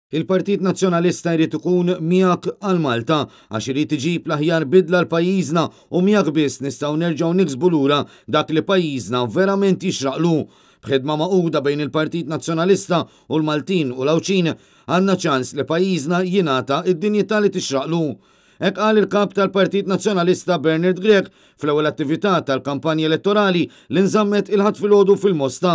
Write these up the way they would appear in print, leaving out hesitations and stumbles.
Il-Partit Nazzjonalista jrid ikun miegħek għal Malta għax irid iġib l-aħjar bidla għal pajjiżna u miegħek biss nistgħu nerġgħu niksbu lura dak li pajjiżna verament jixraqlu. B'ħidma magħquda bejn il-Partit Nazzjonalista u l-Maltin u l-Għawdxin għandna ċans li pajjiżna jingħata d-dinjità li tixraqlu. Hekk qal il-Kap tal-Partit Nazzjonalista Bernard Grech fl-ewwel attività tal-kampanja elettorali li nżammet il-Ħadd filgħodu fil-Mosta.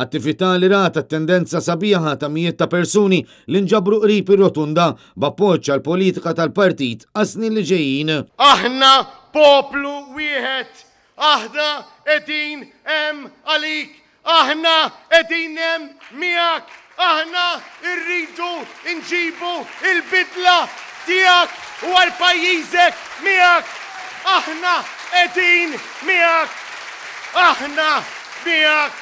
Attività li rat attendenza sabiħa ta' mijiet ta' persuni li nġabru qrib ir-Rotunda b'appoġġ għall-politika tal-partit għas-snin li ġejjin. Aħna poplu wieħed, aħna qegħdin hemm għalik Aħna qegħdin hemm miegħek, aħna rridu nġibu l-bidla tiegħek u għal pajjiżek miegħek. Aħna qegħdin miegħek. Aħna miegħek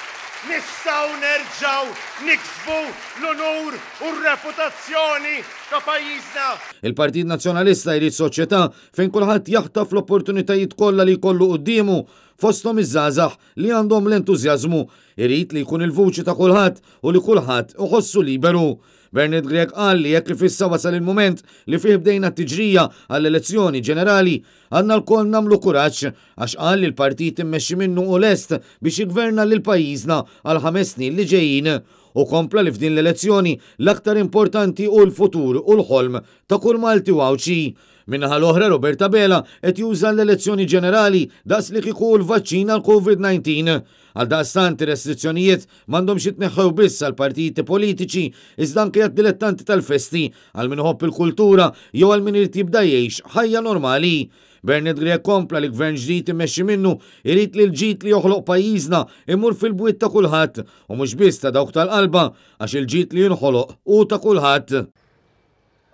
nistgħu nerġgħu niksbu l-unur u r-reputazzjoni ta' pajjiżna. Il-Partit Nazzjonalista jrid soċjetà fejn kulħadd jaħtaf l-opportunitajiet kollha li jkollu quddiemu, fosthom iż-żgħażagħ li għandhom l-entużjażmu, irid li jkun il-vuċi ta' kulħadd u li kulħadd iħossu liberu. Bernard Grech qal li hekk kif issa wasal il-mument li fih bdejna t-tiġrija għall-elezzjoni ġenerali, għandna lkoll nagħmlu kuraġġ għax qal li l-partit immexxi minnu hu lest biex jiggverna lil pajjiżna għall-ħames snin li ġejjin. Hu kompla li f'din l-elezzjoni l-aktar importanti hu l-futur u l-ħolm ta' kull Malti u Għawdxi. Min-naħa l-oħra Robert Abela qed juża l-elezzjoni ġenerali daqs li kieku hu l-vaċċin għall-Covid 19. Għaldaqstant ir-restrizzjonijiet m'għandhomx jitneħħew biss għall-partiti politiċi iżda anke għad-dilettanti tal-festi, għal min iħobb il-kultura jew għal min irid jibda jgħix ħajja normali. Bernard Grech kompla li gvern ġdid immexxi minnu jrid li l-ġid li joħloq pajjiżna imur fil-bwiet ta' kulħadd u mhux biss ta' dawk tal-qalba għax il-ġid li jinħoloq hu ta' kulħadd.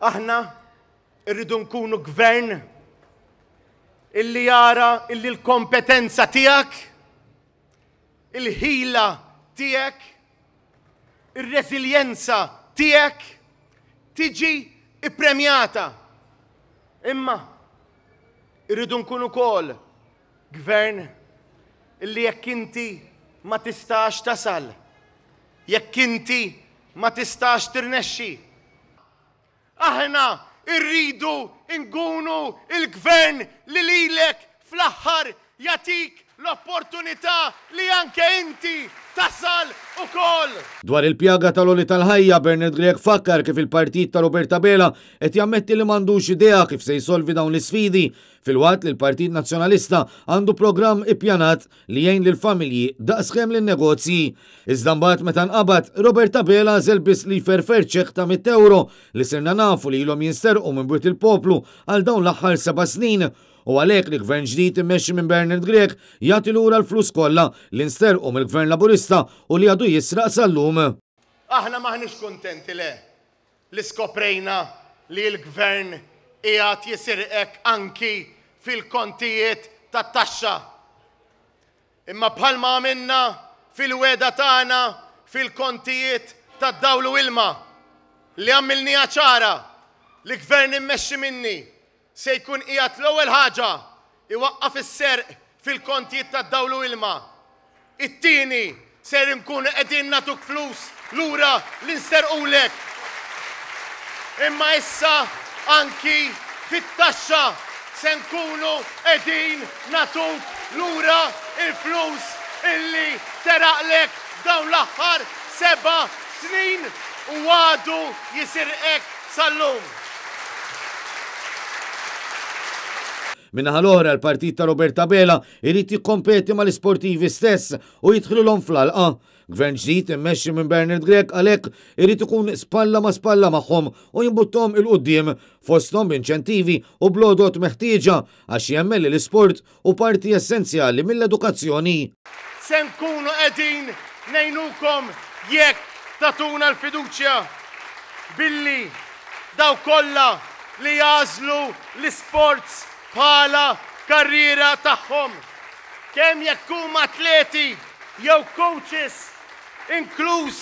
Aħna Irridu nkunu gvern illi jara illi l-kompetenza tiegħek, il-ħila tiegħek, ir-reżiljenza tiegħek tiġi ippremjata. Imma irridu nkunu wkoll gvern illi jekk inti ma tistax tasal, jekk inti ma tistax tirnexxi, Aħna rridu nkunu l-Gvern li lilek fl-aħħar jagħtik l-opportunità li anke inti tasal ukoll. Dwar il-pjaga tal-għoli tal-ħajja, Bernard Grech fakkar kif il-partit ta' Robert Abela qed jammetti li m'għandux idea kif se jsolvi dawn l-isfidi, filwaqt li l-Partit Nazzjonalista għandu programm ippjanat li jgħin lill-familji daqskemm lin-negozji. Iżda mbagħad meta nqabad, Robert Abela għażel biss li jferfer ċekk ta' 100 ewro li sirna nafu li ilhom jinsterqu minn bwiet il-poplu għal dawn l-aħħar seba' snin. U għalhekk li gvern ġdid immexxi minn Bernard Grech jagħti lura l-flus kollha li nsterqu mill-Gvern Laburista u li għadu jisraq sal-lum. Aħna m'aħniex kuntenti le li skoprejna li l-Gvern qiegħed jisirqek anki fil-kontijiet tat-taxxa. Imma bħalma għamilna fil-wegħda tagħna fil-kontijiet tad-dawl u ilma, li għamilniha ċara li Gvern immexxi minni se jkun qiegħed l-ewwel ħaġa jwaqqaf is-serq fil-kontijiet tad-dawl u ilma. It-tieni, ser inkunu qegħdin nagħtuk flus lura li nsterqulek. Imma issa anki fit-taxxa se nkunu qegħdin nagħtuk lura l-flus illi seraqlek f'dawn l-aħħar seba' snin u għadu jisirqek sal-lum. Min-naħa l-oħra l-partit ta' Robert Abela jrid jikkompeti mal-isportivi stess u jidħlilhom fl-għalqa. Gvern ġdid immexxi minn Bernard Grech għalhekk irid ikun spalla ma' spalla magħhom u jimbutthom 'il quddiem fosthom b'inċentivi u bl-għodod meħtieġa għax jemmen li l-isport hu parti essenzjali mill-edukazzjoni. Se nkunu qegħdin ngħinukom jekk tagħtuna l-fiduċja billi dawk kollha li jagħżlu l-isports bħala karriera tagħhom, kemm jekk huma atleti jew coaches, inkluż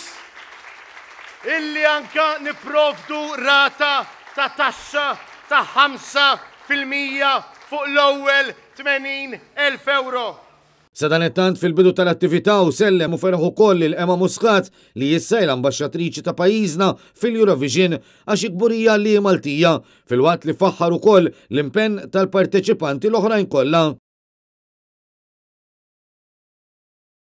illi anke nipprovdu rata ta' taxxa ta' 5% fuq l-ewwel 80,000 ewro. Sadanittant, fil-bidu tal-attività u sellem u ferħu ukoll lil Emma Muscat, li issa l-ambaxxatriċi ta' pajjiżna fil-Eurovision, għax kburija li Maltija, filwaqt li faħħar ukoll l-impenn tal-parteċipanti l-oħrajn kollha.